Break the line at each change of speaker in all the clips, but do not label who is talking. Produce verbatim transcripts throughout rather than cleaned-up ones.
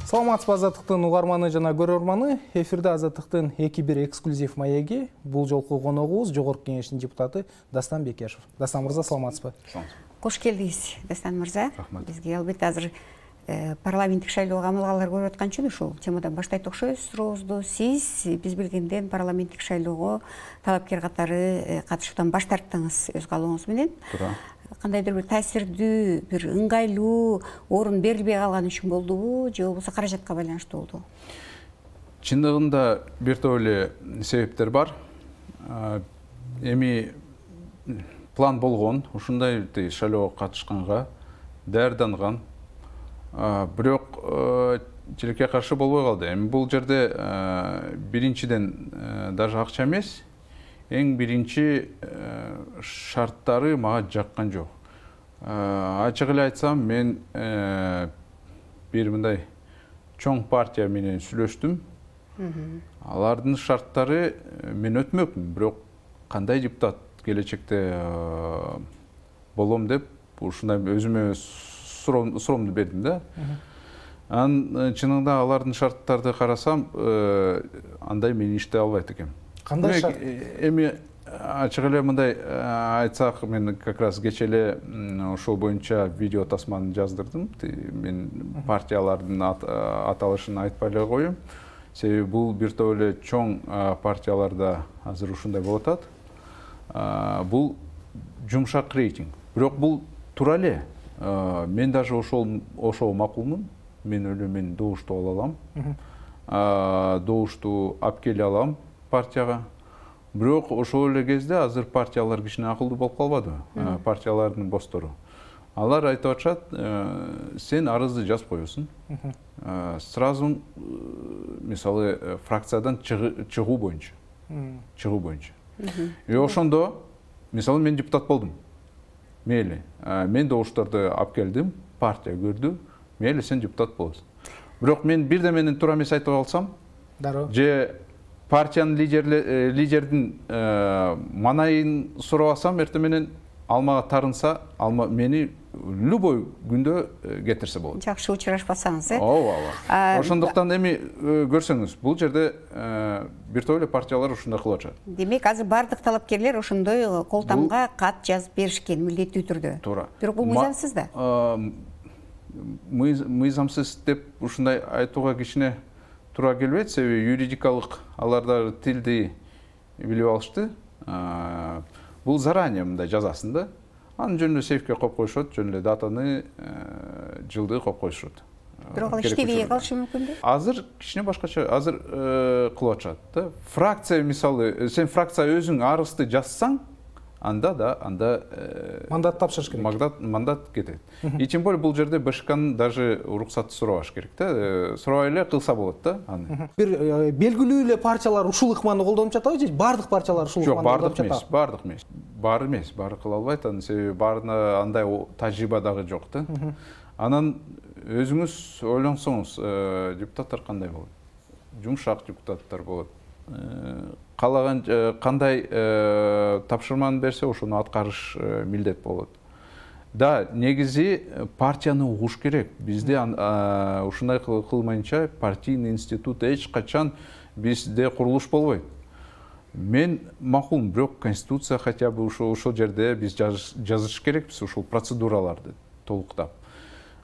Саламатсызбы Азаттыктын угарманы жана көрөрманы. Эфирде Азаттыктын эки бир эксклюзив маеги. Бул жолку коногубуз Жогорку Кеңештин депутаты Дастан Бекешев. Дастан мырза, саламатсызбы?
Кош келдиңиз, Дастан мырза. Бизге албетте азыр парламенттик шайлоого амалгалар көрүп аткан үчүн ушул темадан баштайт окшойбуз сурообузду. Сиз биз билгенден парламенттик шайлоого талапкер катары катышуудан баш тарттыңыз өз каалооңуз менен.
Туура.
Кандайдыр бир таасирдүү, бир ыңгайлуу орун берилбей калган үчүн болдубу, же болбосо каражатка байланыштуу болдубу?
Чындыгында бир топ эле себептер бар. Эми план болгон, ушундай шайлоого катышканга даярданган. Бирок тилекке каршы болбой калды. Эми бул жерде биринчиден даже акча эмес, эң биринчи шарттары мага жаккан жок. Ачык эле айтсам, мен бир мындай чоң партия менен сүйлөштүм. Алардын шарттары мен өтмөкмүн, бирок кандай депутат келечекте болом деп ушундай өзүмө суроомду бердим да. Анан чынында алардын шарттарды карасам, андай мен иштей албайт экенмин.
Кандай шарт?
Эми ачык эле мындай айтсак, мен как раз кечээ эле ошол боюнча видео тасманы жаздырдым. Мен партиялардын аталышын айтпай эле коеюн. Себеби бул бир топ эле чоң партияларда азыр ушундай болуп атат. Бул жумшак рейтинг. Бирок бул туура эле. Мен даже ошол ошол макулмун. Мен эле мен добушту ала алам. Добушту алып келе алам партияга. Бирок ошол эле кезде азыр партиялар кичине акылдуу болуп калбадыбы? Партиялардын босстору. Алар айтып атышат, сен арызды жазып коесуң. Сразу мисалы фракциядан чыгуу боюнча. Чыгуу боюнча. И ошондо мисалы мен депутат болдум. Мейли, мен добуштарды алып келдим, партия көрдү. Мейли, сен депутат болосуң. Бирок мен бирде менен туура эмес айтып алсам, же партиянын лидердин манайын сурабасам, эртең менен алмага тарынса, алма мени любой күндө кетирсе болот.
Жакшы учурашпасаңыз, э?
Ооба, ооба. Ошондуктан эми көрсөңүз, бул жерде бир топ эле партиялар ушундай кылып атышат.
Демек, азыр бардык талапкерлер ошондой колтамга кат жазып беришкен милдеттүү түрдө.
Туура.
Бирок бул мыйзамсыз да.
Мыйзамсыз деп ушундай айтууга кичине туура келбейт, себеби юридикалык аларда тилди билип алышты. Бул заранее мындай жазасын да. Анын жөнүндө сейфке коюп коюшат, жөнүндө датаны, жылды коюп коюшат.
Бирок ал иштебей калышы мүмкүнбү?
Азыр кичине башкача, азыр кылып атышат да. Фракция мисалы, сен фракция өзүң арызды жазсаң, анда да, анда
мандат тапшырыш керек.
Мандат, мандат кетет. И тем более бул жерде БШКнын даже уруксаты сурабаш керек да. Сурабай эле кылса болот да аны.
Бир белгилүү эле партиялар ушул ыкманы колдонуп жатабы же бардык партиялар ушул ыкманы колдонуп жатабы?
Жок, бардык эмес, баары эмес. Баары эмес, баары кыла албайт, анын себеби баарына андай тажрыйба дагы жок да. Анан өзүңүз ойлонсоңуз, депутаттар кандай болот? Жумшак депутаттар болот. Калаган кандай тапшырманы берсе, ошону аткарыш милдет болот. Да, негизи партияны угуш керек. Бизде ушундай кылмайынча партийный институт эч качан бизде курулуш болбойт. Мен макулмун, бирок конституция хотя бы ошол жерде биз жазыш керекпиз ушул процедураларды толуктап.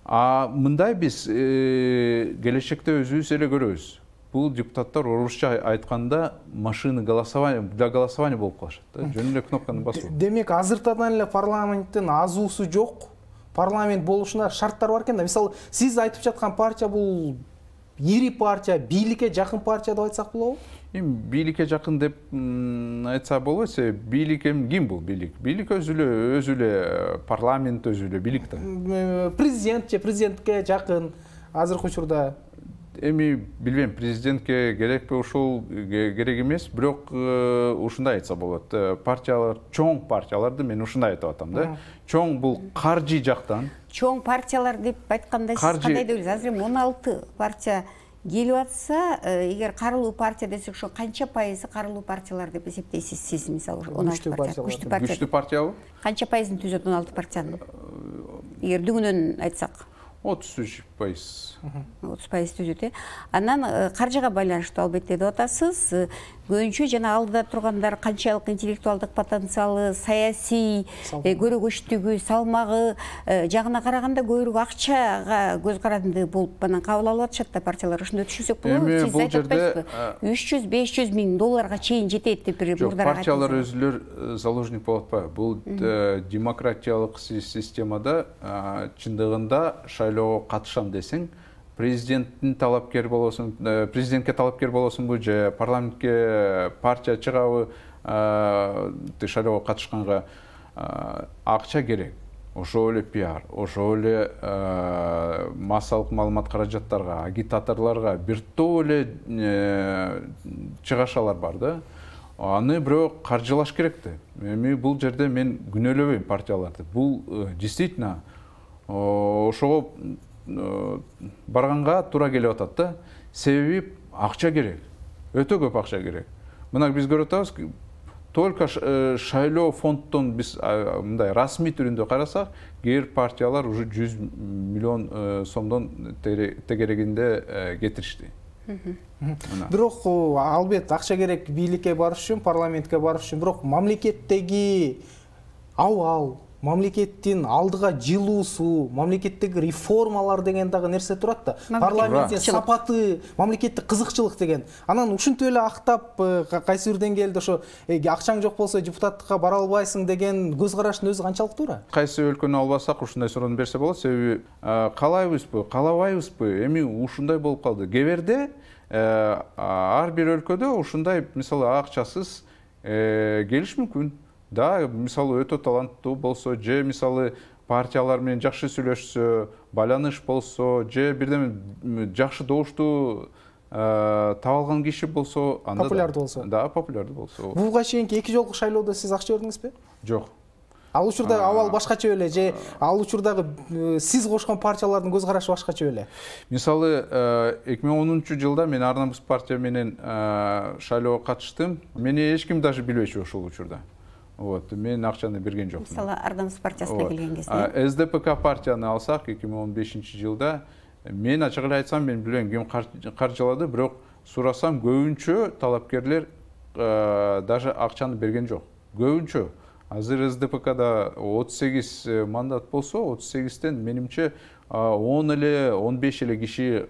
А мындай биз келечекте өзүбүз эле көрөбүз. Бул депутаттар орусча айтканда машина голосования, для голосования болуп калышат да, жөн эле кнопканы басуу.
Демек, азыртадан эле парламенттин азуусу жок, парламент болушуна шарттар бар экен да. Мисалы, сиз айтып жаткан партия бул ири партия, бийликке жакын партия деп айтсак болобу?
Эми бийликке жакын деп айтса болбойт, себеби бийлик ким бул бийлик? Бийлик өзү эле, өзү эле парламент өзү эле бийлик да.
Президент же президентке жакын азыркы учурда.
Эми билбейм, президентке керекпи, ушул керек эмес, бирок ушундай айтса болот. Партиялар, чоң партияларды мен ушундай айтып атам да. Чоң бул каржы жактан.
Чоң партиялар деп айтканда сиз кандай деп ойлойсуз? Азыр он алты партия келип атса, эгер карылуу партия десек, ошо канча пайызы карылуу партиялар деп эсептейсиз сиз, мисалы, он алты партия?
Күчтүү партия. Күчтүү партиябы?
Канча пайызын түзөт он алты партиянын? Эгер дүгүнөн айтсак.
отуз үч пайыз.
отуз пайыз түзүт э. Анан каржыга байланыштуу албетте деп атасыз. Көбүнчө жана алдыда тургандар канчалык интеллектуалдык потенциалы, саясий көрөгөчтүгү, салмагы жагына караганда көбүрөөк акчага көз каранды болуп анан кабыл алып атышат да партиялар. Ошондой түшүнсөк болобу? Сиз айтып атпайсызбы? үч жүз беш жүз миң долларга чейин жетет деп бир мурдараак айтып.
Партиялар өзүлөр заложник болуп атпайбы? Бул демократиялык системада чындыгында шайлоого катышам десең, президенттин талапкер болосуң, президентке талапкер болосуңбу же парламентке партия чыгабы, шайлоого катышканга акча керек. Ошол эле пиар, ошол эле массалык маалымат каражаттарга, агитаторлорго бир топ эле чыгашалар бар да. Аны бирок каржылаш керек да. Эми бул жерде мен күнөөлөбөйм партияларды. Бул действительно ошого барганга туура келип атат да. Себеби акча керек. Өтө көп акча керек. Мына биз көрүп атабыз, только шайлоо фонддон биз мындай расмий түрүндө карасак, кээ бир партиялар уже жүз миллион сомдон тегерегинде кетиришти.
Бирок албетте акча керек бийликке барыш үчүн, парламентке барыш үчүн. Бирок мамлекеттеги абал, мамлекеттин алдыга жылуусу, мамлекеттеги реформалар деген дагы нерсе турат да. Парламенттин сапаты, мамлекеттик кызыкчылык деген. Анан ушинтип эле актап кайсы бир деңгээлде ошо акчаң жок болсо депутаттыкка бара албайсың деген көз караштын өзү канчалык туура?
Кайсы өлкөнү албасак ушундай суроону берсе болот. Себеби каалайбызбы, каалабайбызбы, эми ушундай болуп калды. Кээ ар бир өлкөдө ушундай мисалы акчасыз келиш мүмкүн. Да, мисалы өтө таланттуу болсо, же мисалы партиялар менен жакшы сүйлөшсө, байланыш болсо, же бирдеме жакшы добуштуу таап алган киши болсо, анда
популярдуу болсо.
Да, популярдуу болсо.
Буга чейинки эки жолку шайлоодо сиз акча бердиңизби?
Жок.
Ал учурда абал башкача беле, же ал учурдагы сиз кошкон партиялардын көз карашы башкача беле?
Мисалы эки миң онунчу жылда мен Ар Намыс партия менен шайлоого катыштым. Мени эч ким даже билбечү ошол учурда. Вот, мен акчаны берген жокмун.
Мисалы Ар Намыс партиясына келген кезде.
Эс Дэ Пэ Ка партияны алсак, эки миң он бешинчи жылда мен ачык эле айтсам, мен билбейм ким каржылады, бирок сурасам көбүнчө талапкерлер даже акчаны берген жок. Көбүнчө. Азыр Эс Дэ Пэ Када отуз сегиз мандат болсо, отуз сегизден менимче он эле он беш эле киши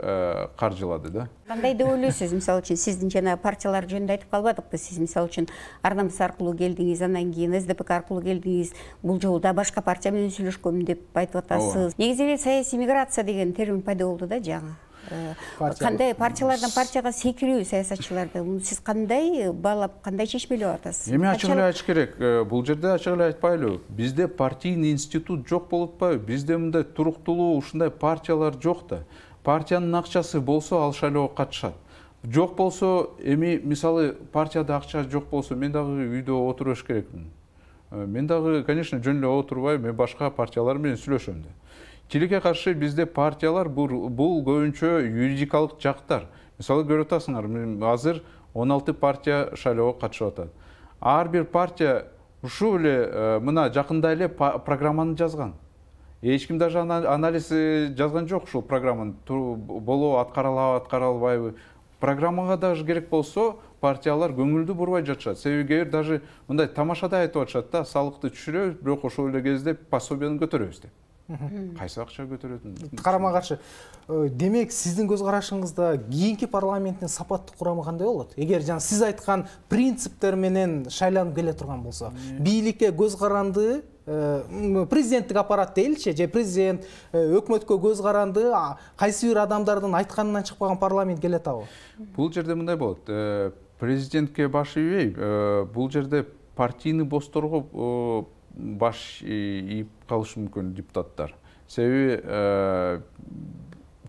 каржылады да.
Кандай деп ойлойсуз? Мисалы үчүн сиздин жана партиялар жөнүндө айтып калбадыкпы? Сиз мисалы үчүн Ар Намыс аркылуу келдиңиз, андан кийин Эс Дэ Пэ Ка аркылуу келдиңиз. Бул жолу да башка партия менен сүйлөшкөм деп айтып атасыз. Негизи эле саясий миграция деген термин пайда болду да жаңы. Кандай партиялардан партияга секирүү саясатчыларды сиз кандай баалап, кандай чечмелеп атасыз?
Эми ачык эле айтыш керек. Бул жерде ачык эле айтпайлы. Бизде партийный институт жок болуп атпайбы? Бизде мындай туруктулуу ушундай партиялар жок да. Партиянын акчасы болсо ал шайлоого катышат. Жок болсо, эми мисалы партияда акча жок болсо, мен дагы үйдө отуруш керекмин. Мен дагы, конечно, жөн эле отурбай, мен башка партиялар менен сүйлөшөм да. Тилекке каршы бизде партиялар бул көбүнчө юридикалык жактар. Мисалы көрүп атасыңар, азыр он алты партия шайлоого катышып атат. Ар бир партия ушул эле мына жакында эле программаны жазган. Эч ким даже анализ жазган жок ушул программаны. Болобу, аткаралабы, аткара албайбы. Программага даже керек болсо, партиялар көңүлдү бурбай жатышат. Себеби кээ бир даже мындай тамашада айтып атышат да, салыкты түшүрөбүз, бирок ошол эле кезде пособияны көтөрөбүз деп. Кайсы акча көтөрөтүн?
Карама каршы. Демек, сиздин көз карашыңызда кийинки парламенттин сапаттык курамы кандай болот? Эгер жана сиз айткан принциптер менен шайланып келе турган болсо, бийликке көз каранды, президенттик аппарат дейли, же президент, өкмөткө көз каранды, кайсы бир адамдардын айтканынан чыкпаган парламент келе атабы?
Бул жерде мындай болот. Президентке баш ийбей, бул жерде партийный босторго баш ийип калышы мүмкүн депутаттар. Себеби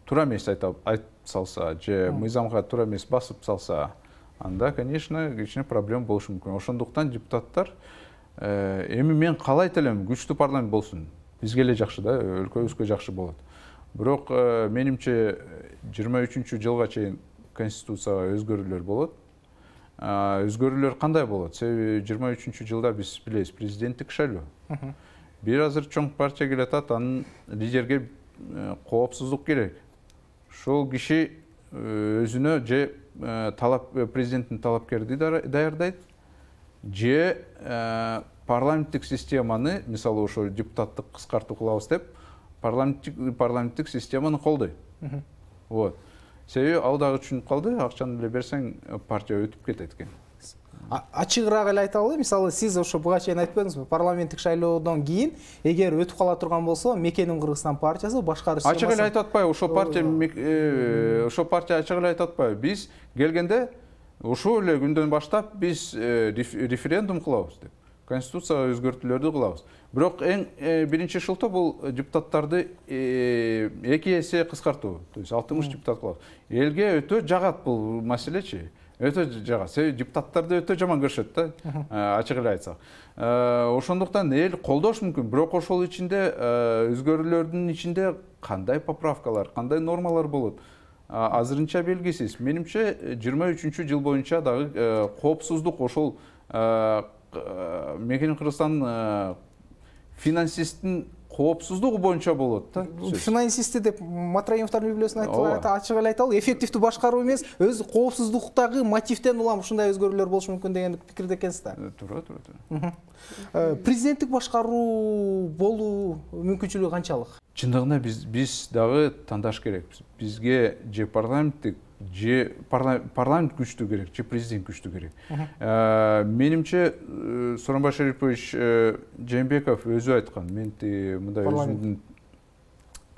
туура эмес айтып салса, же мыйзамга туура эмес басып салса, анда, конечно, кичине проблема болушу мүмкүн. Ошондуктан депутаттар эми мен каалайт элем күчтүү парламент болсун. Бизге эле жакшы да, өлкөбүзгө жакшы болот. Бирок менимче жыйырма үчүнчү жылга чейин конституцияга өзгөрүүлөр болот. Өзгөрүүлөр кандай болот? Себеби жыйырма үчүнчү жылда биз билебиз президенттик шайлоо. Бир азыр чоң партия келе атат, анын лидерге коопсуздук керек. Ошол киши өзүнө же талап президенттин талапкерди даярдайт, же парламенттик системаны, мисалы ошо депутаттык кыскартуу кылабыз деп, парламенттик парламенттик системаны колдойт. Вот. Себеби ал дагы түшүнүп калды, акчаны эле берсең партия өтүп кетет экен.
Ачыгыраак эле айталы, мисалы сиз ошо буга чейин айтпадыңызбы, парламенттик шайлоодон кийин эгер өтүп кала турган болсо, Мекенин Кыргызстан партиясы башкаруу системасы.
Ачык эле айтып атпайбы, ошо партия ошо партия ачык эле айтып атпайбы. Биз келгенде ошол эле күндөн баштап биз референдум кылабыз деп, конституцияга өзгөртүүлөрдү кылабыз. Бирок эң биринчи шылтоо бул депутаттарды эки эсе кыскартуу, то есть алтымыш депутат кылабыз. Элге өтө жагат бул маселечи. Өтө жагат. Себеби депутаттарды өтө жаман көрүшөт да, ачык эле айтсак. Ошондуктан эл колдош мүмкүн, бирок ошол ичинде өзгөрүүлөрдүн ичинде кандай поправкалар, кандай нормалар болот? Азырынча белгисиз. Менимче жыйырма үчүнчү жыл боюнча дагы коопсуздук ошол Мекенин Кыргызстан финансисттин коопсуздугу боюнча болот да.
Финансисти деп Матраимовдун библиосун айтып ачык эле айталы, эффективдүү башкаруу эмес, өз коопсуздуктагы мотивден улам ушундай өзгөрүүлөр болушу мүмкүн деген пикирде экенсиз да.
Туура, туура, туура.
Президенттик башкаруу болуу мүмкүнчүлүгү канчалык?
Чындыгында биз биз дагы тандаш керекпиз. Бизге же парламенттик, же парламент күчтүү керек, же президент күчтүү керек. Менимче Сооронбай Шарипович Жээнбеков өзү айткан, мен мындай өзүмдүн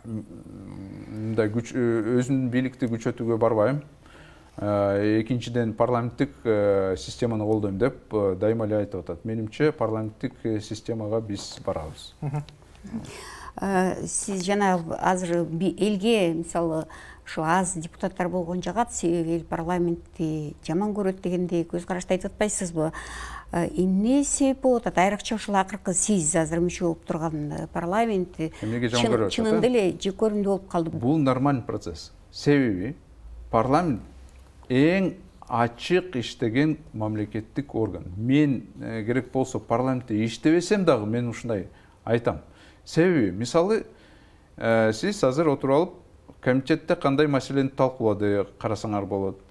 мындай күч өзүмдүн бийликти күчөтүүгө барбайм. Экинчиден парламенттик системаны колдойм деп дайыма эле айтып атат. Менимче парламенттик системага биз барабыз.
Сиз жана азыр элге мисалы ушу аз депутаттар болгон жагат, себеби эл парламентти жаман көрөт дегендей көз карашты айтып атпайсызбы? Эмне себеп болуп атат? Айрыкча ушул акыркы сиз азыр мүчө болуп турган парламент чынында эле жек көрүндүү болуп калды.
Бул нормальный процесс. Себеби парламент эң ачык иштеген мамлекеттик орган. Мен керек болсо парламентте иштебесем дагы мен ушундай айтам. Себеби, мисалы, сиз азыр отуруп алып, комитетте кандай маселени талкуулады карасаңар болот.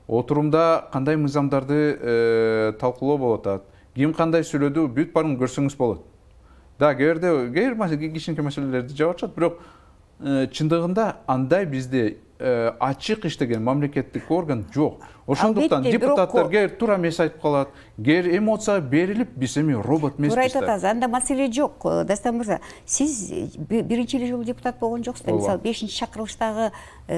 Отурумда кандай мыйзамдарды талкуулоо болуп атат. Ким кандай сүйлөдү, бүт баарын көрсөңүз болот. Да, кээде кээ кичинекей маселелерди жаап атышат, бирок чындыгында андай бизде ачык иштеген мамлекеттик орган жок. Ошондуктан депутаттар кээ туура эмес айтып калат, кээ эмоция берилип, биз эми робот эмеспиз.
Туура айтып атасыз, анда маселе жок. Дастан мырза, сиз биринчи эле жолу депутат болгон жоксуз да. Мисалы, бешинчи чакырылыштагы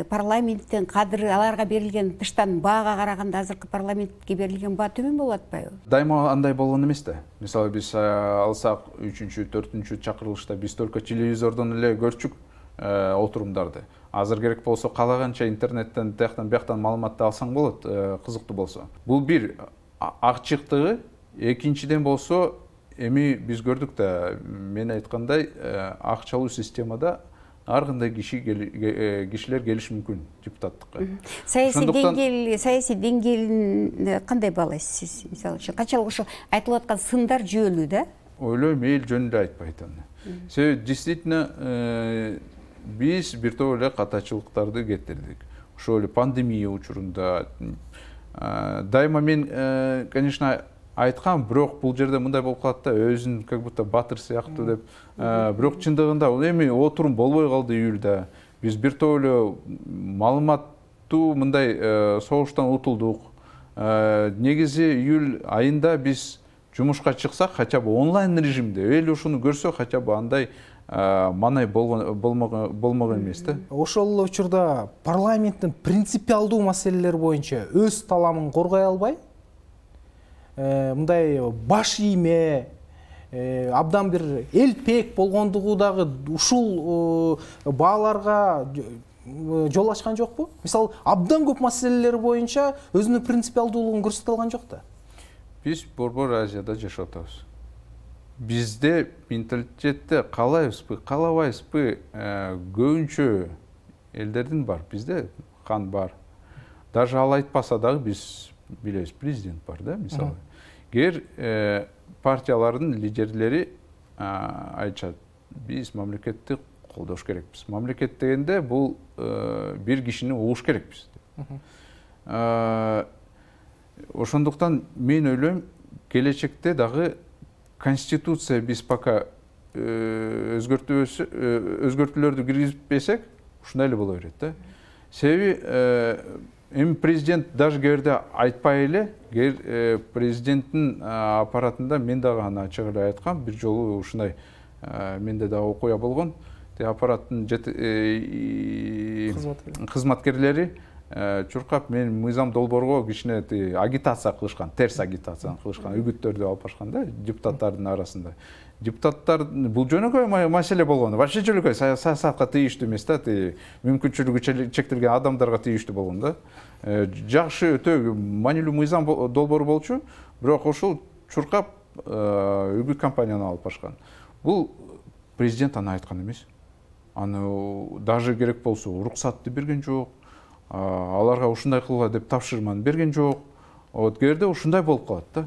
парламенттин кадыры, аларга берилген тыштан баага караганда азыркы парламентке берилген баа төмөн болуп атпайбы?
Дайыма андай болгон эмес да. Мисалы, биз алсак үчүнчү, төртүнчү чакырылышта биз только телевизордон эле көрчүк отурумдарды. Азыр керек болсо калаганча интернеттен тияктан бияктан маалыматты алсаң болот, кызыктуу болсо. Бул бир ачыктыгы, экинчиден болсо эми биз көрдүк да, мен айткандай акчалуу системада ар кандай киши кишилер келиши мүмкүн депутаттыкка.
Саясий деңгээл, саясий деңгээлин кандай баалайсыз сиз? Мисалы үчүн канчалык ошо айтылып аткан сындар жүйөлүү да?
Ойлойм, эл жөнүндө айтпайт аны. Себеби действительно биз бир топ эле катачылыктарды кетирдик. Ошол эле пандемия учурунда дайыма мен, конечно, айткам, бирок бул жерде мындай болуп калат да, өзүн как будто батыр сыяктуу деп. Бирок чындыгында эми отурум болбой калды июлда. Биз бир топ эле маалыматтуу мындай согуштан утулдук. Негизи июль айында биз жумушка чыксак, хотя бы онлайн режимде, эл ушуну көрсө, хотя бы андай манай болмогон эмес да.
Ошол учурда парламенттин принципиалдуу маселелер боюнча өз таламын коргой албай, мындай баш ийме, абдан бир элпек болгондугу дагы ушул бааларга жол ачкан жокпу? Мисалы, абдан көп маселелер боюнча өзүнүн принципиалдуулугун көрсөтө алган жок да.
Биз Борбор Азияда жашап атабыз. Бизде менталитетте каалайбызбы, каалабайбызбы, көбүнчө элдердин бар, бизде кан бар. Даже ал айтпаса дагы биз билебиз, президент бар да, мисалы. Кер партиялардын лидерлери айтышат, биз мамлекетти колдош керекпиз. Мамлекет дегенде бул бир кишини угуш керекпиз. Ошондуктан мен ойлойм, келечекте дагы конституция биз пока өзгөртүүлөрдү киргизбесек, ушундай эле боло берет да. Себеби эми президент даже кээ айтпай эле, президенттин аппаратында мен дагы аны ачык эле айткам, бир жолу ушундай менде дагы окуя болгон. Аппараттын кызматкерлери чуркап мен мыйзам долбоорго кичине агитация кылышкан, терс агитация кылышкан, үгүттөрдү алып башкан да депутаттардын арасында. Депутаттар бул жөнөкөй маселе болгон. Вообще жөнөкөй саясатка тийиштүү эмес да, мүмкүнчүлүгү чектелген адамдарга тийиштүү болгон да. Жакшы өтө маанилүү мыйзам долбоору болчу, бирок ошол чуркап үгүт компанияны алып башкан. Бул президент аны айткан эмес. Аны даже керек болсо уруксатты берген жок. Аларга ушундай кылгыла деп тапшырманы берген жок. Вот кээде ушундай болуп калат да.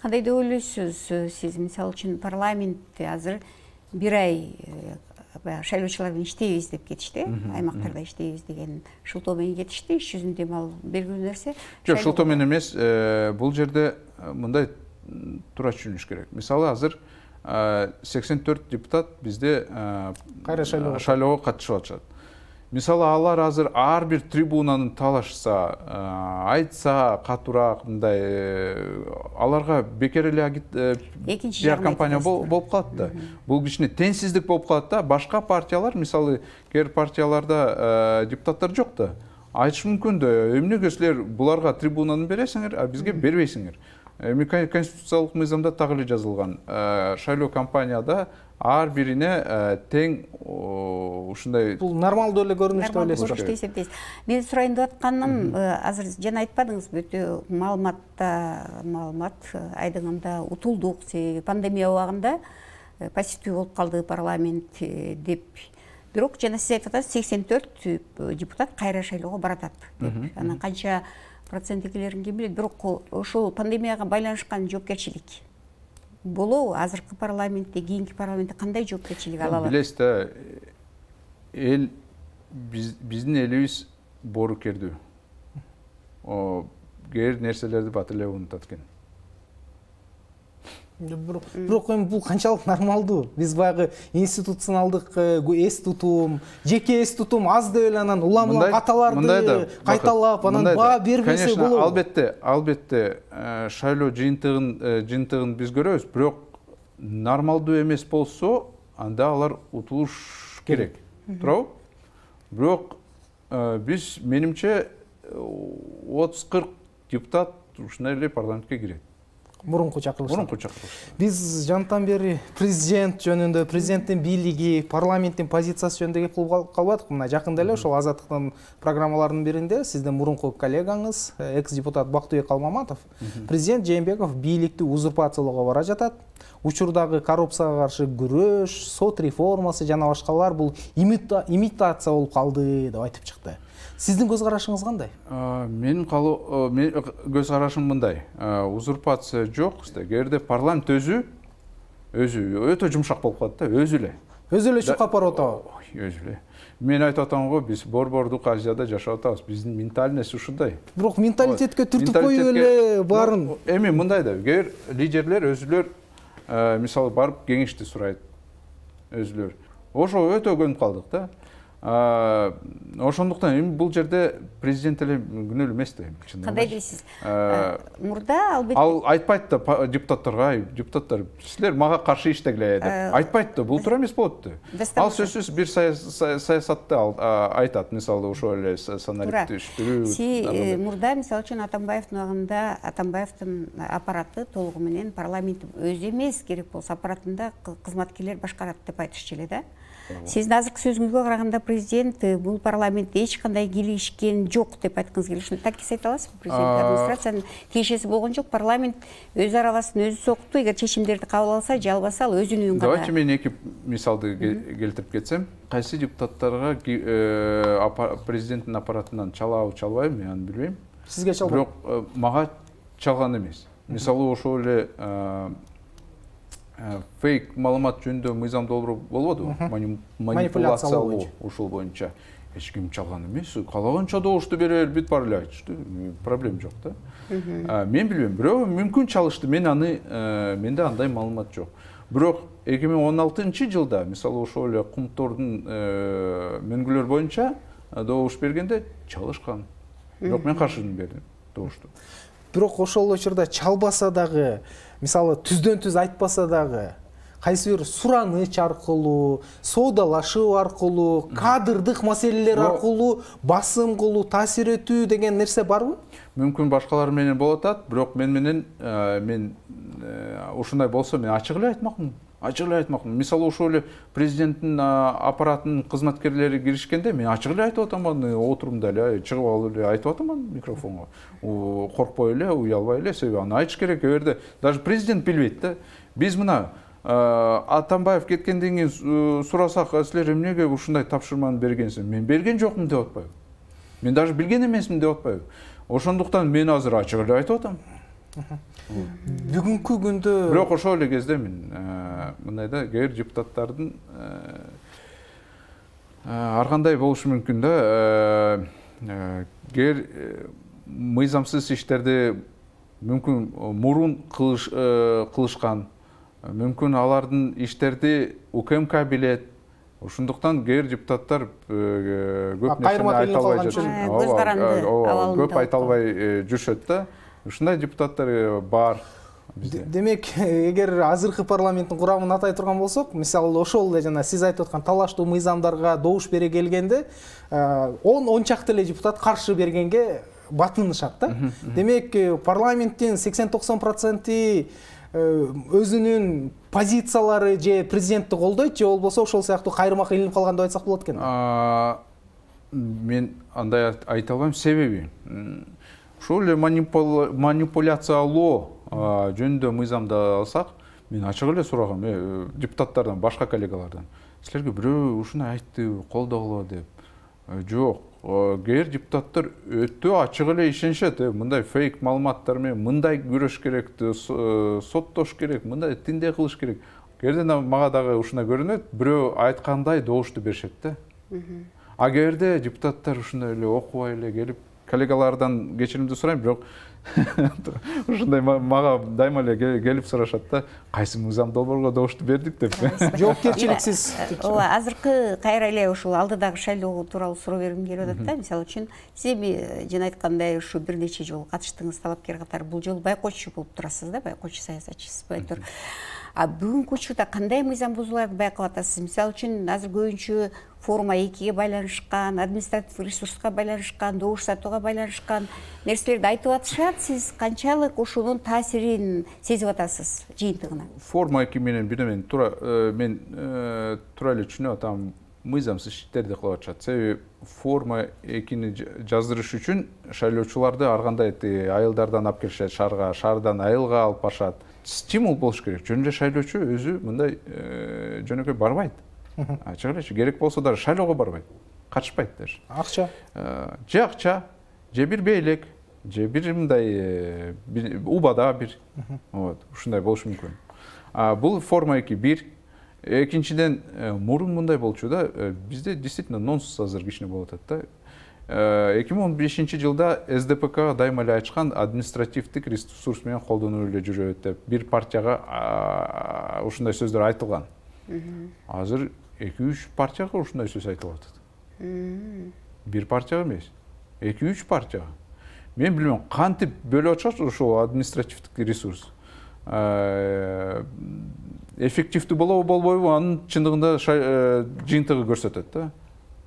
Кандай деп ойлойсуз сиз? Мисалы үчүн парламентте азыр бир ай шайлоочулар менен иштейбиз деп кетишти, аймактарда иштейбиз деген шылтоо менен кетишти. Иш жүзүндө ал белгилүү нерсе.
Жок, шылтоо менен эмес, бул жерде мындай туура түшүнүш керек. Мисалы азыр сексен төрт депутат бизде
кайра
шайлоого катышып атышат. Мисалы алар азыр ар бир трибунаны талашса, айтса катуураак, мындай аларга бекер эле пиар компания болуп калат да. Бул кичине теңсиздик болуп калат да. Башка партиялар, мисалы кээ партияларда депутаттар жок да. Айтыш мүмкүн да, эмнеге силер буларга трибунаны бересиңер, а бизге бербейсиңер. Эми конституциялык мыйзамда так эле жазылган. Шайлоо компанияда ар бирине тең ушундай.
Бул нормалдуу эле көрүнүш деп
ойлойсузбу? Мен сурайын деп атканым, азыр жана айтпадыңызбы, өтө маалыматта маалымат айдыңында утулдук, пандемия убагында пассивдүү болуп калды парламент деп. Бирок жана сиз айтып атасыз, сексен төрт депутат кайра шайлоого баратат деп. Анан канча проценттикилерин ким билет, бирок ошол пандемияга байланышкан жоопкерчилик болобу? Азыркы парламентте, кийинки парламентте кандай жоопкерчилик ала алат?
Билесиз да, эл биздин элибиз боорукердүү. Кээ нерселерди бат эле унутат экен.
Бирок эми бул канчалык нормалдуу? Биз баягы институционалдык эс тутум, жеке эс тутум аз деп эле анан улам-улам каталарды кайталап, анан баа бербесе болобу?
Албетте, албетте шайлоо жыйынтыгын жыйынтыгын биз көрөбүз, бирок нормалдуу эмес болсо, анда алар утулуш керек. Туурабы? Бирок биз, менимче, отуз кырк депутат ушундай эле парламентке кирет.
Мурунку чакырылышта.
Мурунку чакырылышта.
Биз жантан бери президент жөнүндө, президенттин бийлиги, парламенттин позициясы жөнүндө кеп кылып калбадык. Мына жакында эле ошол Азаттыктын программаларынын биринде сиздин мурунку коллегаңыз, экс-депутат Бактыбек Алмаматов, президент Жээнбеков бийликти узурпациялоого бара жатат. Учурдагы коррупцияга каршы күрөш, сот реформасы жана башкалар бул имитация болуп калды деп айтып чыкты. Сиздин көз карашыңыз кандай?
Менин көз карашым мындай. Узурпация жок, кээде парламент өзү өзү өтө жумшак болуп калат да, өзү эле.
Өзү эле чукап барып атабы?
Өзү эле. Мен айтып атам го, биз борбордук Азияда жашап атабыз. Биздин ментальность ушундай.
Бирок менталитетке түртүп коюп эле баарын.
Эми мындай да, кээ лидерлер өзүлөр мисалы барып кеңешти сурайт. Өзүлөр. Ошо өтө көнүп калдык да. Ошондуктан эми бул жерде президент эле күнөөлүү эмес да.
Кандай дейсиз? Мурда албетте
ал айтпайт да депутаттарга, депутаттар силер мага каршы иштегиле деп айтпайт да, бул туура эмес болот да. Ал сөзсүз бир саясатты айтат, мисалы ошо эле саналиктештирүү.
Си мурда мисалы үчүн Атамбаевдин убагында Атамбаевдин аппараты толугу менен парламент өзү эмес, керек болсо аппаратында кызматкерлер башкарат деп айтышчу эле да. Сиздин азыркы сөзүңүзгө караганда президент бул парламентте эч кандай кийлигишкен жок деп айткыңыз келет. Ушуну так эсеп аласызбы? Президент администрациянын тиешеси болгон жок. Парламент өз арабасын өзү сокутту. Эгер чечимдерди кабыл алса, же албаса, ал өзүнүн үн гана.
Давайте мен эки мисалды келтирип кетсем. Кайсы депутаттарга президенттин аппаратынан чалабы, чалбайбы, мен аны билбейм.
Сизге чалбайбы?
Бирок мага чалган эмес. Мисалы ошол эле фейк маалымат жөнүндө мыйзам долбоору болбодубу? Манипуляциялоо ушул боюнча. Эч ким чалган эмес. Калаганча добушту берер, бүт бар эле айтышты. Проблема жок да. Мен билбейм, бирөө мүмкүн чалышты. Мен аны менде андай маалымат жок. Бирок эки миң он алтынчы жылда, мисалы ошол эле Кумтордун мөңгүлөр боюнча добуш бергенде чалышкан. Бирок мен каршыдын бердим добушту.
Бирок ошол учурда чалбаса дагы, мисалы түздөн түз айтпаса дагы, кайсы бир сураныч аркылуу, соодалашуу аркылуу, кадрдык маселелер аркылуу басым кылуу, таасир этүү деген нерсе барбы?
Мүмкүн башкалар менен болот атат, бирок мен менен мен ушундай болсо мен ачык эле айтмакмын. Ачык эле айтмакмын. Мисалы ошол эле президенттин аппаратынын кызматкерлери киришкенде мен ачык эле айтып атаман, отурумда эле чыгып алып эле айтып атаман микрофонго. Коркпой эле, уялбай эле, себеби аны айтыш керек. Эгерде даже президент билбейт да. Биз мына Атамбаев кеткенден кийин сурасак, силер эмнеге ушундай тапшырманы бергенсиз? Мен берген жокмун деп атпайбы? Мен даже билген эмесмин деп атпайбы? Ошондуктан мен азыр ачык эле айтып атам.
Бүгүнкү күндө
бирок ошол эле кезде мен мындай да, кээ бир депутаттардын ар кандай болушу мүмкүн да, кээ бир мыйзамсыз иштерди мүмкүн мурун кылышкан, мүмкүн алардын иштерди УКМК билет. Ошондуктан кээ бир депутаттар көп нерсени айта албай жүрүшөт. Көп айта албай жүрүшөт да. Ушундай депутаттар бар бизде. Демек,
эгер азыркы парламенттин курамын атай турган болсок, мисалы ошол эле жана сиз айтып аткан талаштуу мыйзамдарга добуш бере келгенде он он чакты эле депутат каршы бергенге батынышат да. Демек, парламенттин сексен токсон проценти өзүнүн позициялары же президентти колдойт, же болбосо ошол сыяктуу кайрымак илинип калган деп айтсак болот экен.
Мен андай айта албайм, себеби ошол эле манипуляциялоо жөнүндө мыйзамды алсак, мен ачык эле сурагам депутаттардан, башка коллегалардан. Силерге бирөө ушуну айтты, колдогула деп. Жок, кээ бир депутаттар өтө ачык эле ишенишет, мындай фейк маалыматтар менен мындай күрөш керек, соттош керек, мындай тиндей кылыш керек. Кээде мага дагы ушундай көрүнөт, бирөө айткандай добушту беришет да. А кээде депутаттар ушундай эле окубай эле келип, коллегалардан кечиримди сурайм, бирок ушундай мага дайыма эле келип сурашат да, кайсы мыйзам долбоорго добушту бердик деп.
Жоопкерчиликсиз.
Ооба, азыркы кайра эле ушул алдыдагы шайлоо тууралуу суроо бергим келип атат да. Мисалы үчүн, сиз жана айткандай ушу бир нече жолу катыштыңыз талапкер катары, бул жолу байкоочу болуп турасыз да, байкоочу саясатчысыз байытыр. А бүгүнкү учурда кандай мыйзам бузуларды байкап атасыз? Мисалы үчүн, азыр көбүнчө форма экиге байланышкан, административдик ресурска байланышкан, добуш сатууга байланышкан нерселерди айтып атышат. Сиз канчалык ошонун таасирин сезип атасыз жыйынтыгына?
Форма эки менен бир мен туура мен туура эле түшүнүп атам, мыйзамсыз иштерди кылып атышат. Себеби форма экини жаздырыш үчүн шайлоочуларды ар кандай айылдардан алып келишет, шаарга, шаардан айылга алып барышат. Стимул болуш керек. Жөн эле шайлоочу өзү мындай жөнөкөй барбайт. Ачык эле, керек болсо да шайлоого барбайт. Катышпайт даже.
Акча.
Же акча, же бир beйлек, же бир мындай убада бир. Вот, ушундай болуш мүмкүн. А бул форма эки бир. Экинчиден, мурун мындай болчу да, бизде действительно нонсенс азыр кичине болуп атат да. эки миң он бешинчи жылда эс дэ пэ ка дайыма эле айтышкан, административдик ресурс менен колдонуп эле жүрөт деп, бир партияга ушундай сөздөр айтылган. Азыр эки үч партияга ушундай сөз айтылып атат. Бир партияга эмес, эки үч партияга. Мен билбейм, кантип бөлүп атышат ошол административдик ресурс. Эффективдүү болобу болбойбу, анын чындыгында жыйынтыгы көрсөтөт да.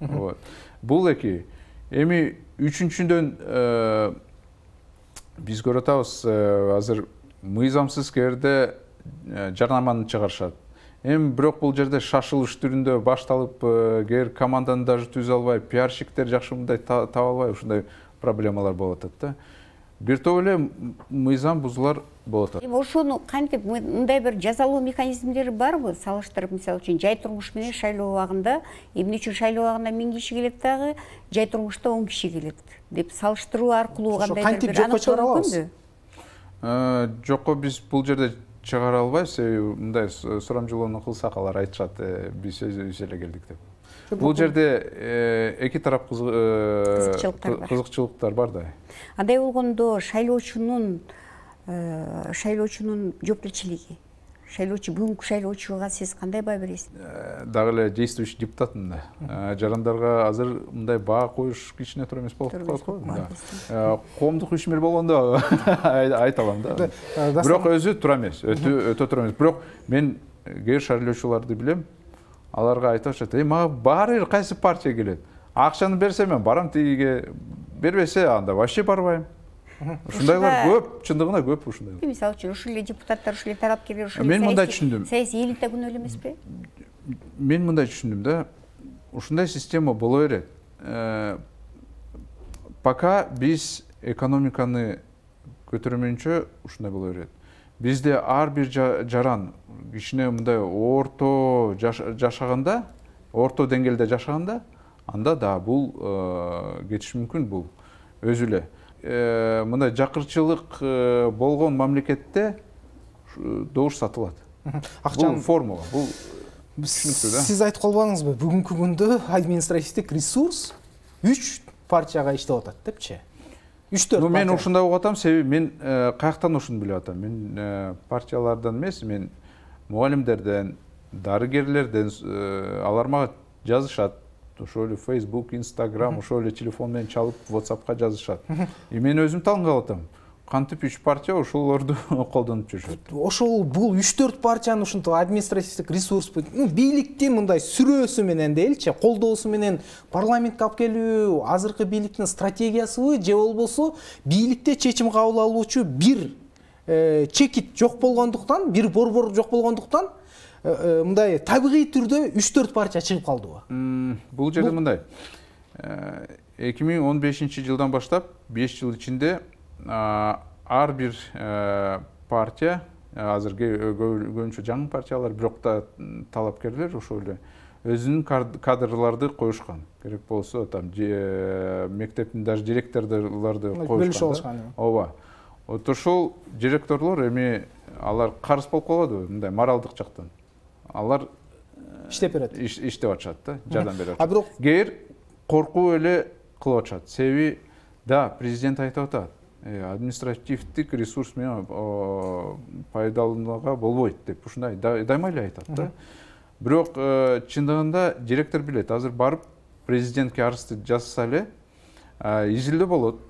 Вот. Бул эки. Эми үчүнчүдөн биз көрүп атабыз, азыр мыйзамсыз керде жарнаманы чыгарышат. Эми бирок бул жерде шашылыш түрүндө башталып, кээ бир команданы даже түзө албай, пиарщиктер жакшы мындай таба албай, ушундай проблемалар болуп атат да. Бир топ эле мыйзам бузуулар болуп атат.
Эми ошону кантип, мындай бир жазалоо механизмдери барбы? Салыштырып, мисалы үчүн, жай турмуш менен шайлоо убагында, эмне үчүн шайлоо убагында миң киши келет дагы, жай турмушта он киши келет деп салыштыруу аркылуу кандай бир
кантип жокко чыгара алабыз?
Жокко биз бул жерде чыгара албайбыз, себеби мындай сурамжылоону кылсак алар айтышат, биз өзүбүз эле келдик деп. Бул жерде эки тарап кызыкчылыктар бар да.
Андай болгондо шайлоочунун шайлоочунун жоопкерчилиги, шайлоочу бүгүнкү шайлоочуга сиз кандай баа бересиз?
Дагы эле действующий депутатмын да. Жарандарга азыр мындай баа коюш кичине туура эмес болуп калат го. Коомдук ишмер болгондо айта алам да. Бирок өзү туура эмес, өтө өтө туура эмес. Бирок мен кээ бир шайлоочуларды билем. Аларга айтышат, "Эй, мага баары бир кайсы партия келет. Акчаны берсе мен барам, тигиге бербесе анда вообще барбайм." Ушундайлар көп, чындыгында көп ушундай.
Мисалы үчүн ушул эле депутаттар, ушул эле талапкерлер, ушул эле
мен мындай түшүндүм.
Саясий элита күнөө эле эмеспи?
Мен мындай түшүндүм да. Ушундай система боло берет. Пока биз экономиканы көтөрмөйүнчө ушундай боло берет. Бизде ар бир жаран кичине мындай орто жашаганда, орто деңгээлде жашаганда, анда да бул кетиш мүмкүн, бул өзү эле. Мындай жакырчылык болгон мамлекетте добуш сатылат. Бул формула, бул түшүнүктүү да.
Сиз айтып калбадыңызбы, бүгүнкү күндө административдик ресурс үч партияга иштеп атат депчи? үч төрт партия.
Мен ушундай угуп атам, себеби мен каяктан ушуну билип атам. Мен партиялардан эмес, мен мугалимдерден, дарыгерлерден, алар мага жазышат. Ошол эле Facebook, Instagram, ошол эле телефон менен чалып, WhatsAppка жазышат. И мен өзүм таң калып атам. Кантип үч партия ошолорду колдонуп жүрүшөт.
Ошол бул үч төрт партиянын ушундай административдик ресурс, бийликтин мындай сүрөөсү менен делчи, колдоосу менен парламентке алып келүү азыркы бийликтин стратегиясыбы, же болбосо бийликте чечим кабыл алуучу бир чекит жок болгондуктан, бир борбор жок болгондуктан мындай табигый түрдө үч төрт партия чыгып калдыбы?
Бул жерде мындай. эки миң он бешинчи жылдан баштап беш жыл ичинде ар бир партия, азыр көбүнчө жаңы партиялар, бирок да талапкерлер ошол эле өзүнүн кадрларды коюшкан. Керек болсо там мектептин даже директорлорду коюшкан. Ооба. Вот ошол директорлор эми алар карыз болуп калбадыбы, мындай моралдык жактан. Алар
иштеп берет.
Иштеп атышат да, жардам берет. А бирок кээ коркуу эле кылып атышат. Себеби да, президент айтып атат. Административдик ресурс менен пайдаланууга болбойт деп ушундай дайыма эле айтат да. Бирок чындыгында директор билет, азыр барып президентке арызды жазса эле изилдөө болот.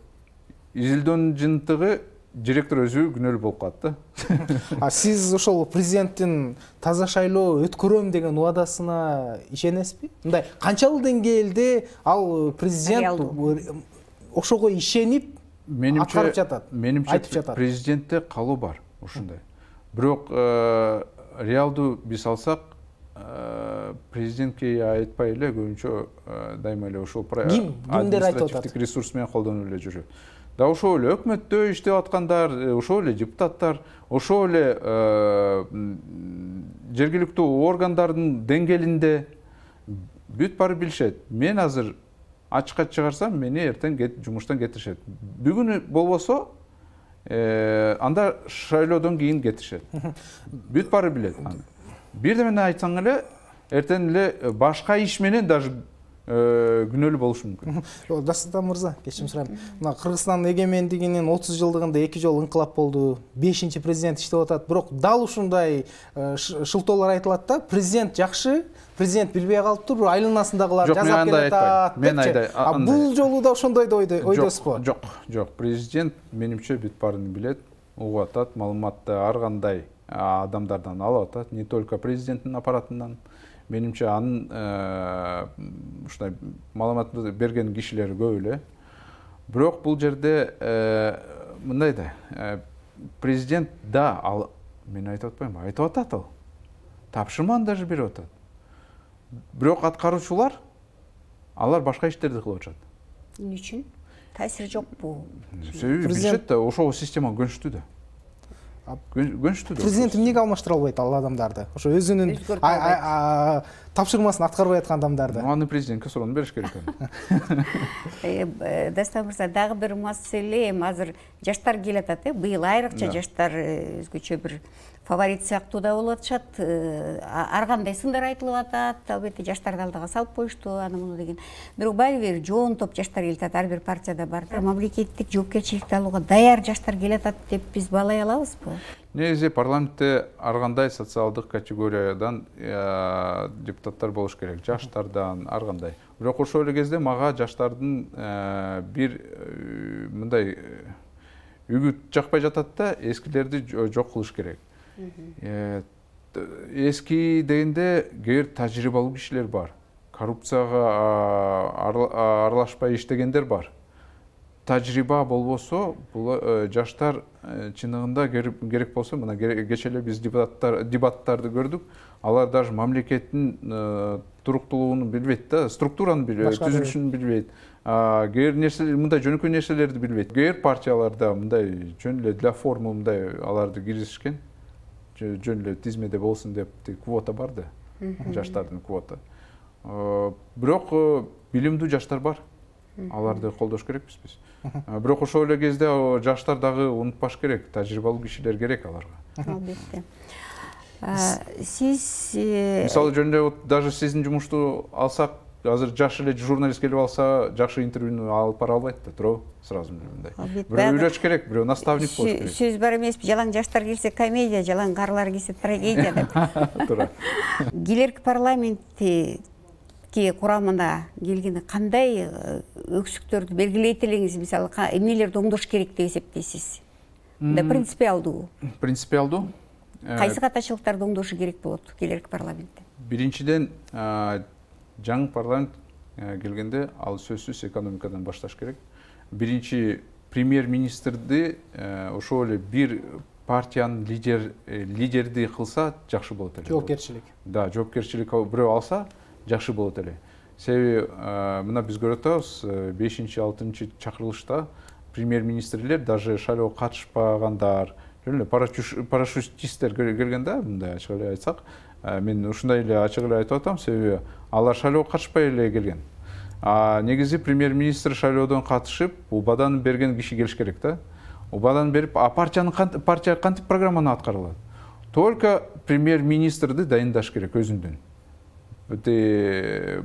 Изилдөөнүн жыйынтыгы директор өзү күнөөлүү болуп калат да.
А сиз ошол президенттин таза шайлоо өткөрөм деген убадасына ишенесизби? Мындай канчалык деңгээлде ал президент ошого ишенип аткарып жатат?
Менимче президентте калуу бар ушундай. Бирок реалдуу биз алсак, президентке айтпай эле көбүнчө дайыма эле ошол административдик ресурс менен колдонуп эле жүрөт. Да ошол эле өкмөттө иштеп аткандар, ошол эле депутаттар, ошол эле жергиликтүү органдардын деңгээлинде бүт баары билишет. Мен азыр ачыкка чыгарсам, мени эртең жумуштан кетиришет. Бүгүн болбосо, анда шайлоодон кийин кетиришет. Бүт баары билет. Бирдемени айтсаң эле, эртең эле башка иш менен даже күнөөлүү болушу мүмкүн.
Дастан мырза, кечирим сурайм. Мына Кыргызстандын эгемендигинин отуз жылдыгында эки жолу инкылап болду. бешинчи президент иштеп атат. Бирок дал ушундай шылтоолор айтылат да, президент жакшы, президент билбей калыптыр, айланасындагылар жазап келатат.
Мен айдай.
А бул жолу да ошондойду ойдосузбу?
Жок, жок. Президент менимче бүт баарын билет, угуп атат, маалыматты ар кандай адамдардан алып атат, не только президенттин аппаратынан. Менимче анын ушундай маалыматты берген кишилер көп эле. Бирок бул жерде мындай да, президент да, ал мен айтып атпайм, айтып атат ал. Тапшырманы даже берип атат. Бирок аткаруучулар алар башка иштерди кылып атышат.
Эмне үчүн? Таасири жокпу?
Себеби билишет да, ошол система көнүштүү да. Көнүштүү да.
Президент эмнеге алмаштыра албайт ал адамдарды? Ошо өзүнүн тапшырмасын аткарбай аткан адамдарды.
Аны президентке суроону бериш керек.
Дастан мырза, дагы бир маселе, азыр жаштар келатат, быйыл айрыкча жаштар өзгөчө бир фаворит сыяктуу да болуп атышат. Ар кандай сындар айтылып атат. Албетте жаштарды алдыга салып коюшту, аны муну деген. Бирок баары бир жоон топ жаштар келатат, ар бир партияда бар. Мамлекеттик жоопкерчиликти алууга даяр жаштар келатат деп биз баалай алабызбы?
Негизи парламентте ар кандай социалдык категориядан депутаттар болуш керек, жаштардан, ар кандай. Бирок ошол эле кезде мага жаштардын бир мындай үгүт жакпай жатат да, эскилерди жок кылыш керек. Эски дегенде кээ бир тажрыйбалуу кишилер бар, коррупцияга аралашпай иштегендер бар. Тажрыйба болбосо, бул жаштар чыныгында керек болсо, мына кечээ эле биз дебаттарды көрдүк. Алар даже мамлекеттин туруктуулугун билбейт да, структураны билбейт, түзүлүшүн билбейт. Кээ бир нерселер, мындай жөнөкөй нерселерди билбейт. Кээ бир партияларда мындай жөн эле для формы мындай аларды киргизишкен. Жөн эле тизмеде болсун деп квота бар да, жаштардын квота. Бирок билимдүү жаштар бар. Аларды колдош керекпиз биз. Бирок ошол эле кезде жаштар дагы унутпаш керек, тажрыйбалуу кишилер керек аларга.
Албетте. Сиз
мисалы жөн эле даже сиздин жумушту алсак, азыр жаш эле журналист келип алса, жакшы интервьюну алып бара албайт да, туурабы? Сразу мындай. Бирөө үйлөш керек, бирөө наставник болуш керек.
Сөз бар эмеспи, жалаң жаштар келсе комедия, жалаң карлар келсе трагедия деп.
Туура.
Келерки парламентти курамына келгенде кандай өксүктөрдү белгилейт элеңиз, мисалы эмнелерди оңдош керек деп эсептейсиз? Да принципиалдуу.
Принципиалдуу?
Кайсы катачылыктарды оңдошу керек болот келерки парламентте?
Биринчиден, жаңы парламент келгенде ал сөзсүз экономикадан башташ керек. Биринчи премьер-министрди ошол эле бир партиянын лидер лидерди кылса жакшы болот эле.
Жоопкерчилик.
Да, жоопкерчилик бирөө алса жакшы болот эле. Себеби мына биз көрүп атабыз, бешинчи алтынчы чакырылышта премьер-министрлер даже шайлоого катышпагандар, жөн эле парашютисттер келген да, мындай ачык эле айтсак, мен ушундай эле ачык эле айтып атам, себеби алар шайлоого катышпай эле келген. А негизи премьер-министр шайлоодон катышып, убадан берген киши келиш керек да. Убадан берип, а партиянын партия кантип программаны аткара алат? Только премьер-министрди дайындаш керек өзүндөн.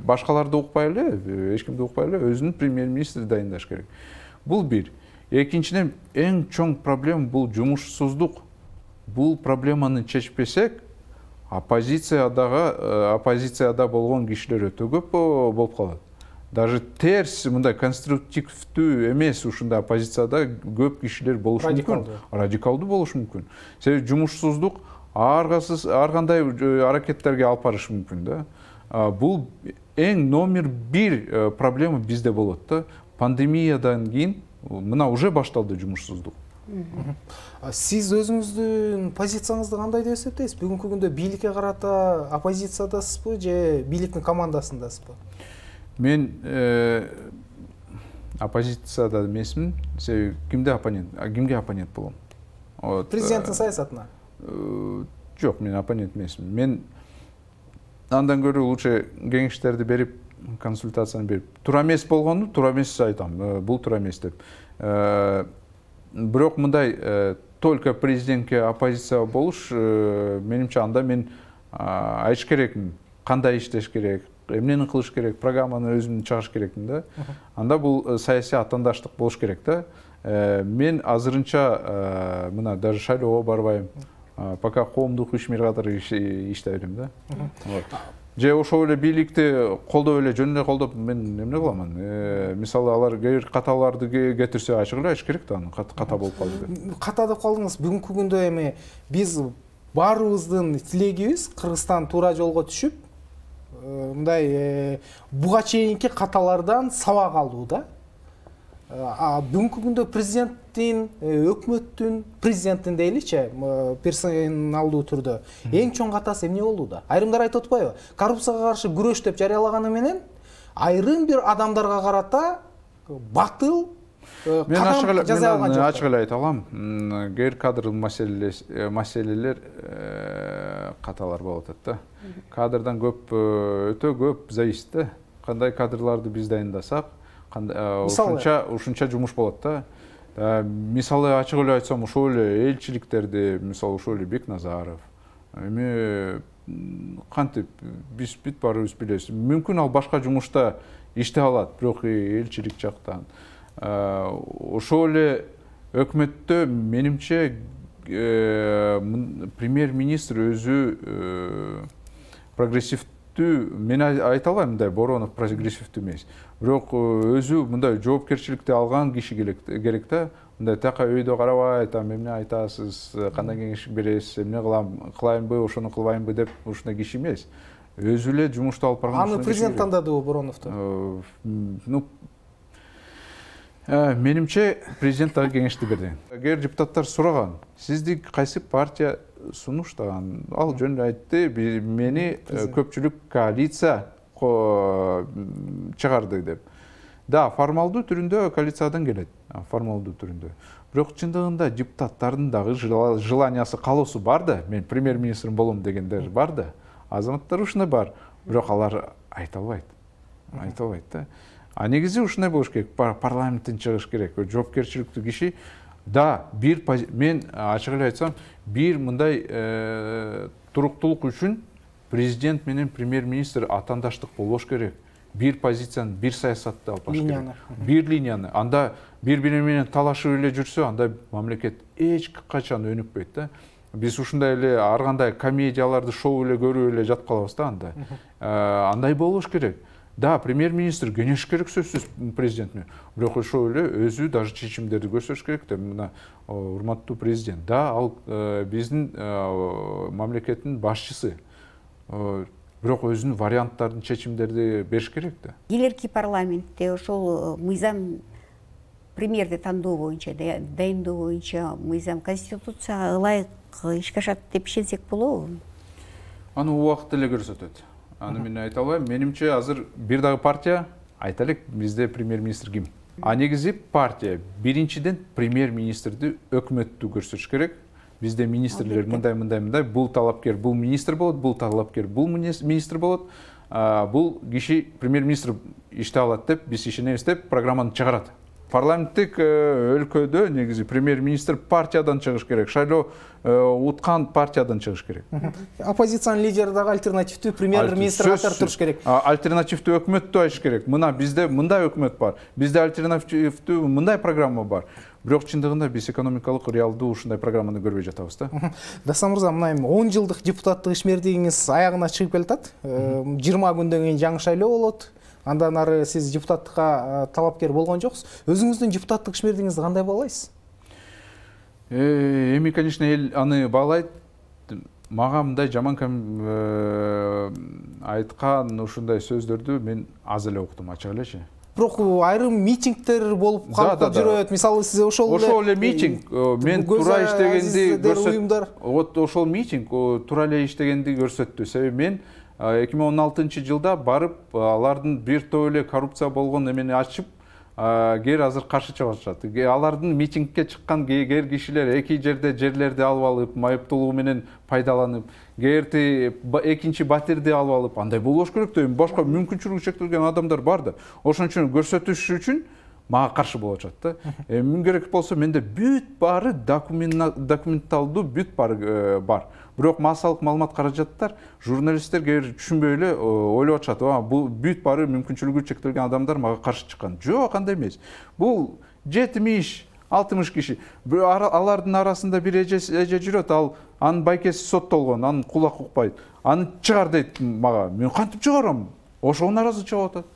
Башкаларды укпай эле, эч кимди укпай эле, өзүнүн премьер-министри дайындаш керек. Бул бир. Экинчиден, эң чоң проблема бул жумушсуздук. Бул проблеманы чечпесек, оппозициядагы оппозицияда болгон кишилер өтө көп болуп калат. Даже терс, мындай конструктивдүү эмес ушундай оппозицияда көп кишилер болуш мүмкүн. Радикалдуу болуш мүмкүн. Себеби жумушсуздук ар кандай аракеттерге алып барышы мүмкүн да. Бул эң номер бир проблема бизде болот да. Пандемиядан кийин мына уже башталды жумушсуздук.
Сиз өзүңүздүн позицияңызды кандай деп эсептейсиз? Бүгүнкү күндө бийликке карата оппозициядасызбы же бийликтин командасындасызбы?
Мен оппозицияда эмесмин. Себеби кимде оппонент, кимге оппонент болом?
Президенттин саясатына?
Жок, мен оппонент эмесмин. Мен андан көрө лучше кеңештерди берип, консультацияны берип, туура эмес болгону туура эмес айтам, бул туура эмес деп. Бирок мындай только президентке оппозиция болуш, менимче анда мен айтыш керекмин, кандай иштеш керек, эмнени кылыш керек, программаны өзүм чыгыш керекмин да. Анда бул саясий атаандаштык болуш керек да. Мен азырынча мына даже шайлоого барбайм. Пока коомдук ишмер катары иштей берем да. Же ошол эле бийликти колдоп эле, жөн эле колдоп мен эмне кыламын? Мисалы алар кээ бир каталарды кетирсе, ачык эле айтыш керек да, аны ката болуп калды деп.
Ката деп калдыңыз. Бүгүнкү күндө эми биз баарыбыздын тилегибиз Кыргызстан туура жолго түшүп, мындай буга чейинки каталардан сабак алуу да. Бүгүнкү күндө президенттин, өкмөттүн, президенттин дейличи, персоналдуу түрдө эң чоң катасы эмне болду да? Айрымдар айтып атпайбы? Коррупцияга каршы күрөш деп жарыялаганы менен айрым бир адамдарга карата батыл кадам жаза алган жок.
Мен ачык эле айта алам. Кээ бир кадр маселелер каталар болуп атат да. Кадрдан көп, өтө көп зависит да. Кандай кадрларды биз дайындасак, ушунча ушунча жумуш болот да. Мисалы ачык эле айтсам, ошол эле элчиликтерди, мисалы ошол эле Бекназаров, эми кантип биз бүт баарыбыз билебиз. Мүмкүн ал башка жумушта иштей алат, бирок элчилик жактан. Ошол эле өкмөттө менимче премьер-министр өзү прогрессивдүү, мен айта албайм мындай Боронов прогрессивдүү эмес. Бирок өзү мындай жоопкерчиликти алган киши керек да. Мындай така өйдө карабай, там эмне айтасыз, кандай кеңеш бересиз, эмне кылам, кылайынбы, ошону кылбайынбы деп ушундай киши эмес. Өзү эле жумушту алып барган.
Аны президент тандадыбы Бороновду?
Ну, менимче президент дагы кеңешти берди. Эгер депутаттар сураган, сизди кайсы партия сунуштаган, ал жөн эле айтты, мени көпчүлүк коалиция чыгарды деп. Да, формалдуу түрүндө коалициядан келет, формалдуу түрүндө. Бирок чындыгында депутаттардын дагы желаниясы, каалоосу бар да, мен премьер-министр болом дегендер бар да. Азаматтар ушундай бар, бирок алар айта албайт. Айта албайт да. А негизи ушундай болуш керек, парламенттен чыгыш керек, жоопкерчиликтүү киши. Да, бир мен ачык эле айтсам, бир мындай туруктуулук үчүн президент менен премьер-министр атаандаштык болбош керек. Бир позицияны, бир саясатты алып баш керек. Бир линияны. Анда бири-бири менен талашып эле жүрсө, анда мамлекет эч качан өнүкпөйт да. Биз ушундай эле ар кандай комедияларды, шоу эле көрүп эле жатып калабыз да анда. Андай болуш керек. Да, премьер-министр кеңеш керек сөзсүз президентне. Бирок ошол эле өзү даже чечимдерди көрсөтүш керек да. Мына урматтуу президент. Да, ал биздин мамлекеттин башчысы. Бирок өзүнүн варианттарын, чечимдерди бериш керек да.
Келерки парламентте ошол мыйзам премьерди тандоо боюнча, дайындоо боюнча мыйзам конституцияга ылайык ишке ашат деп ишенсек болобу?
Аны убакыт эле көрсөтөт. Аны мен айта албайм. Менимче азыр бир дагы партия, айтайлык, бизде премьер-министр ким? А негизи партия биринчиден премьер-министрди өкмөттүү көрсөтүш керек. Бизде министрлер мындай мындай мындай, бул талапкер бул министр болот, бул талапкер бул министр болот. Бул киши премьер-министр иштей алат деп биз ишенебиз деп программаны чыгарат. Парламенттик өлкөдө негизи премьер-министр партиядан чыгыш керек, шайлоо уткан партиядан чыгыш керек.
Оппозициянын лидери дагы альтернативдүү премьер-министр катары туруш керек.
Альтернативдүү өкмөттү ачыш керек. Мына бизде мындай өкмөт бар, бизде альтернативдүү мындай программа бар. Бирок чындыгында биз экономикалык реалдуу ушундай программаны көрбөй жатабыз да.
Дастан мырза, мына эми он жылдык депутаттык ишмердигиңиз аягына чыгып келатат. жыйырма күндөн кийин жаңы шайлоо болот. Андан ары сиз депутаттыкка талапкер болгон жоксуз. Өзүңүздүн депутаттык ишмердигиңизди кандай баалайсыз?
Эми, конечно, эл аны баалайт. Мага мындай жаман айткан ушундай сөздөрдү мен аз эле уктум, ачык элечи.
Бирок айрым митингдер болуп калып жүрөт. Мисалы сиз ошол эле
ошол эле митинг, мен туура иштегенди көрсөттү. Вот ошол митинг туура эле иштегенди көрсөттү. Себеби мен эки миң он алтынчы жылда барып алардын бир топ эле коррупция болгон эмени ачып, кээ азыр каршы чыгып атышат. Алардын митингке чыккан кээ кишилер эки жерде жерлерди алып алып, майыптуулугу менен пайдаланып, кээти экинчи батирди алып алып, андай болбош керек да. Башка мүмкүнчүлүгү чектелген адамдар бар да. Ошон үчүн көрсөтүш үчүн мага каршы болуп атат да. Эмне керек болсо менде бүт баары документалдуу бүт баары бар. Бирок массалык маалымат каражаттар, журналисттер кээ түшүнбөй эле ойлоп атышат, бул бүт баары мүмкүнчүлүгү чектелген адамдар мага каршы чыккан. Жок, андай эмес. Бул жетимиш, алтымыш киши. Алардын арасында бир эже жүрөт, ал анын байкеси соттолгон, анын кулак укпайт. Аны чыгар дейт мага. Мен кантип чыгарам? Ошого наразы чыгып атат.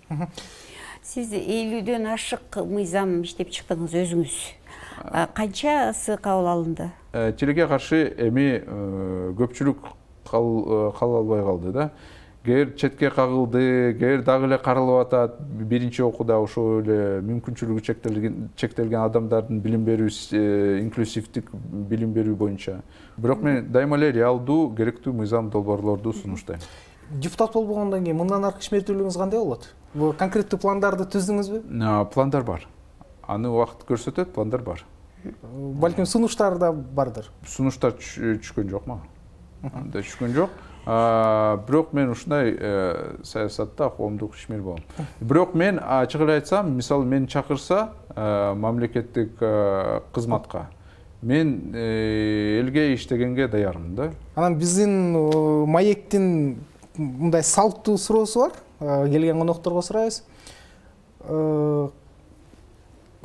Сиз элүүдөн ашык мыйзам иштеп чыктыңыз өзүңүз. Канчасы кабыл алынды?
Тилекке каршы эми көпчүлүк кабыл албай калды да. Кээ четке кагылды, кээ дагы эле каралып атат. Биринчи окууда ошол эле мүмкүнчүлүгү чектелген чектелген адамдардын билим берүү, инклюзивдик билим берүү боюнча. Бирок мен дайыма эле реалдуу, керектүү мыйзам долбоорлорду сунуштайм.
Депутат болбогондон кийин мындан аркы ишмердүүлүгүңүз кандай болот? Бул конкреттүү пландарды түздүңүзбү?
Пландар бар. Аны убакыт көрсөтөт, пландар бар.
Балким сунуштар да бардыр.
Сунуштар түшкөн жок мага. Анда түшкөн жок. Бирок мен ушундай саясатта коомдук ишмер болом. Бирок мен ачык эле айтсам, мисалы мени чакырса, мамлекеттик кызматка. Мен элге иштегенге даярмын да.
Анан биздин маектин мындай салттуу суроосу бар. Келген конокторго сурайбыз.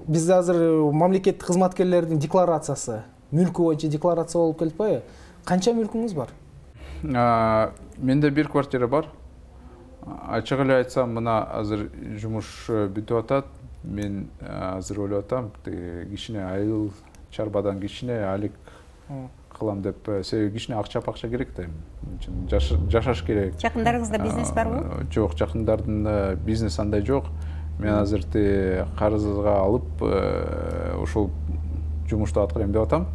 Бизде азыр мамлекеттик кызматкерлердин декларациясы, мүлкү боюнча декларация болуп келип атпайбы? Канча мүлкүңүз бар?
Менде бир квартира бар. Ачык эле айтсам, мына азыр жумуш бүтүп атат. Мен азыр ойлоп атам, кичине айыл чарбадан кичине алик кылам деп, себеби кичине акча-пакча керек да. Жашаш керек.
Жакындарыңызда бизнес барбы?
Жок, жакындардын бизнес андай жок. Мен азыр карызга алып ошол жумушту аткарайм деп атам.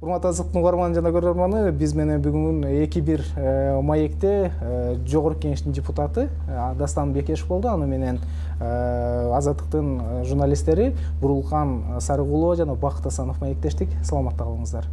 Урматтуу Азыктын угарманы жана көрөрманы, биз менен бүгүн эки бир маекте жогорку кеңештин депутаты Дастан Бекешев болду. Аны менен Азаттыктын журналисттери Бурулкан Сарыгулова жана Бакыт Асанов маектештик. Саламатта калыңыздар.